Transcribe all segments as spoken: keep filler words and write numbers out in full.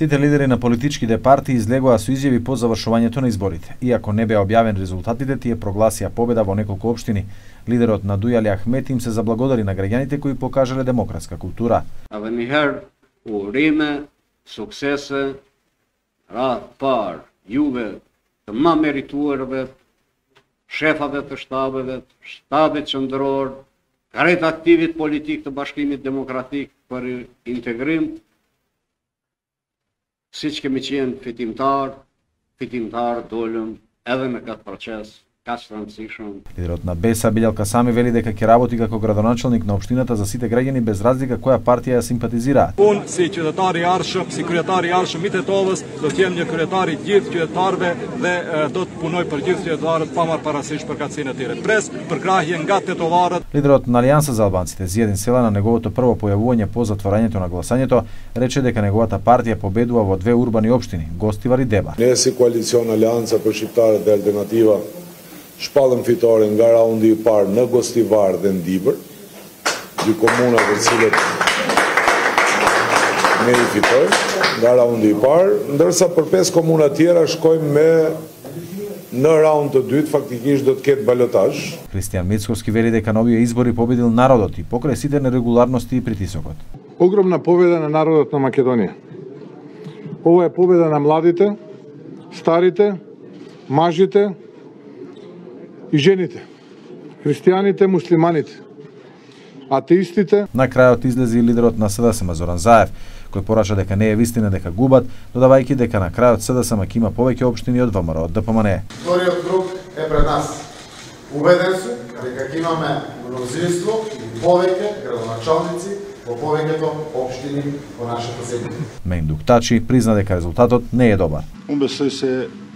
Сите лидери на политичките партии излегоа со изјави по завршувањето на изборите. Иако не беа објавени резултатите, тие прогласија победа во неколку општини. Лидерот на Дујали Ахмет им се заблагодари на граѓаните кои покажале демократска култура. Edhe një herë urime, suksese, radhë parë juve të më merituarve, shefave të shtabeve, shtabit qendror, krejt aktivit politik të Bashkimit Demokratik për integrim, siç kemi qenë fitimtar, fitimtar dolëm edhe me këtë proces kaq të rëndësishëm. Лидерот на Беса Билјал Касами вели дека ќе работи како градоначелник на општината за сите граѓани без разлика која партија ја симпатизираат. Unë si qytetar i arshëm, si kryetar i arshëm i Tetovës, do të jem një kryetar i gjithë qytetarëve dhe e, do të punoj për gjithë qytetarët pa marrë parasysh përkatësinë e tyre. Pres përkrahje nga tetovarët. Лидерот на Алијанса за албанците Зиједин Села на неговото прво појавување по затворањето на гласањето рече дека неговата партија победува во две урбани општини, Гостивар и Дебар. Не си коалицион Алијанса për shqiptarët dhe alternativa shpallëm fitore nga raundi i parë në Gostivar dhe në Dibër, dy komuna të cilët ne i fitojmë nga raundi i parë, ndërsa për pesë komuna tjera shkojmë me në raund të dytë, faktikisht do të ketë balotazh. Кристијан Мицковски вели дека на овие избори победил народот и покрај сите нерегуларности и притисокот. Огромна победа на народот на Македонија. Ова е победа на младите, старите, мажите и жените, христијаните, муслиманите, атеистите. На крајот излезе и лидерот на СДСМ Зоран Заев, кој порача дека не е вистина дека губат, додавајќи дека на крајот СДСМ ќе има повеќе општини од ВМРО од ДПМН. Вториот круг е пред нас. Убеден сум дека ќе имаме мнозинство и повеќе градоначалници во повеќето општини во нашата земја. Мендук Тачи призна дека резултатот не е добар. Unë besoj se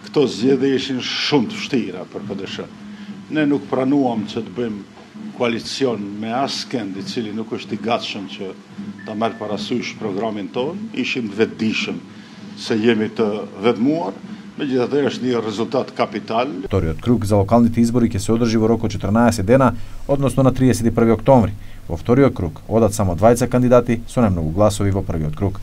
këto zgjedhje ishin shumë të vështira për P D S. Ne nuk pranuam që të bëjmë koalicion me askënd i cili nuk është i gatshëm që ta marrë parasysh programin ton, ishim të vetëdijshëm se jemi të vetmuar, megjithatë është një rezultat kapital. Вториот круг за локалните избори ќе се одржи во рок од четрнаесет дена, односно на триесет и први октомври. Во вториот круг одат само двајца кандидати со најмногу гласови во првиот круг.